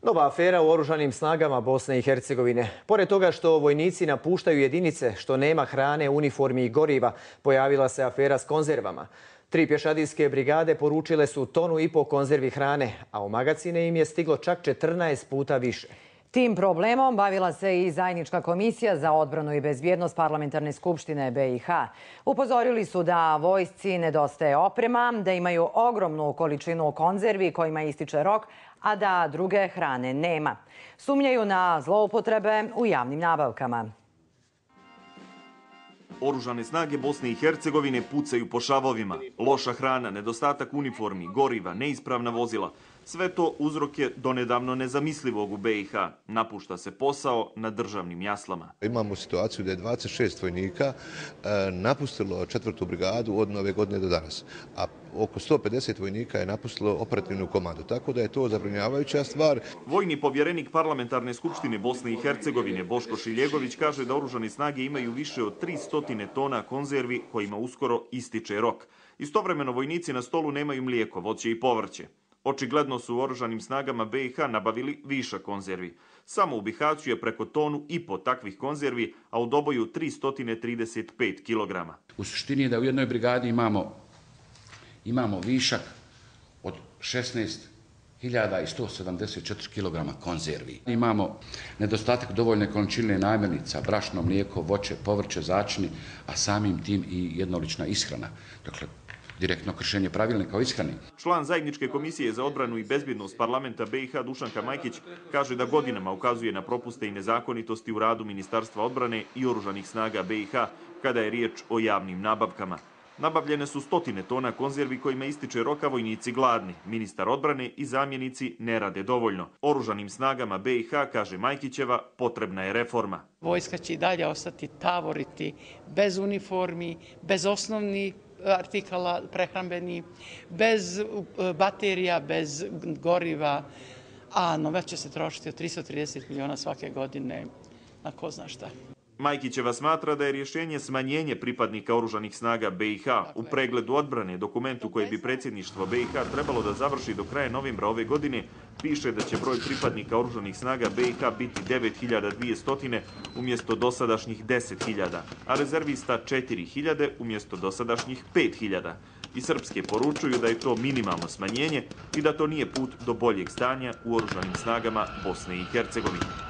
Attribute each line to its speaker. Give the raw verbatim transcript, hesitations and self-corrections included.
Speaker 1: Nova afera u oružanim snagama Bosne i Hercegovine. Pored toga što vojnici napuštaju jedinice, što nema hrane, uniformi i goriva, pojavila se afera s konzervama. Tri pješadijske brigade poručile su tonu i po konzervi hrane, a u magacine im je stiglo čak četrnaest puta više.
Speaker 2: Tim problemom bavila se i Zajednička komisija za odbranu i bezbjednost Parlamentarne skupštine B i H. Upozorili su da vojsci nedostaje oprema, da imaju ogromnu količinu konzervi kojima ističe rok, a da druge hrane nema. Sumnjaju na zloupotrebe u javnim nabavkama.
Speaker 3: Oružane snage Bosne i Hercegovine pucaju po šavovima. Loša hrana, nedostatak uniformi, goriva, neispravna vozila. Sve to uzrok je donedavno nezamislivog u B i H. Napušta se posao na državnim jaslama.
Speaker 4: Imamo situaciju da je dvadeset šest vojnika napustilo četvrtu brigadu od nove godine do danas, a oko sto pedeset vojnika je napustilo operativnu komandu, tako da je to zabrinjavajuća stvar.
Speaker 3: Vojni povjerenik Parlamentarne skupštine Bosne i Hercegovine Boško Šiljegović kaže da oružane snage imaju više od tristo tona konzervi kojima uskoro ističe rok. Istovremeno vojnici na stolu nemaju mlijeko, voće i povrće. Očigledno su u oružanim snagama B i H nabavili višak konzervi. Samo u Bihaću je preko tonu i po takvih konzervi, a u Doboju tristo trideset pet kilograma.
Speaker 5: U suštini je da u jednoj brigadi imamo, imamo višak od šesnaest hiljada sto sedamdeset četiri kilograma konzervi. Imamo nedostatak dovoljne količine namirnica, brašno, mlijeko, voće, povrće, začini, a samim tim i jednolična ishrana. Dakle, direktno kršenje pravilnika o ishrani.
Speaker 3: Član Zajedničke komisije za odbranu i bezbjednost parlamenta B i H Dušanka Majkić kaže da godinama ukazuje na propuste i nezakonitosti u radu Ministarstva odbrane i oružanih snaga B i H kada je riječ o javnim nabavkama. Nabavljene su stotine tona konzervi kojima ističe roka, vojnici gladni. Ministar odbrane i zamjenici ne rade dovoljno. Oružanim snagama B i H, kaže Majkićeva, potrebna je reforma.
Speaker 6: Vojska će i dalje ostati tavoriti bez uniformi, bez osnovnih artikala prehrambeni, bez baterija, bez goriva, a novac će se trošiti od tristo trideset miliona svake godine na ko zna šta.
Speaker 3: Majkićeva smatra da je rješenje smanjenje pripadnika oružanih snaga B i H. U pregledu odbrane, dokumentu koje bi predsjedništvo B i H trebalo da završi do kraja novembra ove godine, piše da će broj pripadnika oružanih snaga B i H biti devet hiljada dvjesto umjesto dosadašnjih deset hiljada, a rezervista četiri hiljade umjesto dosadašnjih pet hiljada. I srpske poručuju da je to minimalno smanjenje i da to nije put do boljeg stanja u oružanim snagama Bosne i Hercegovine.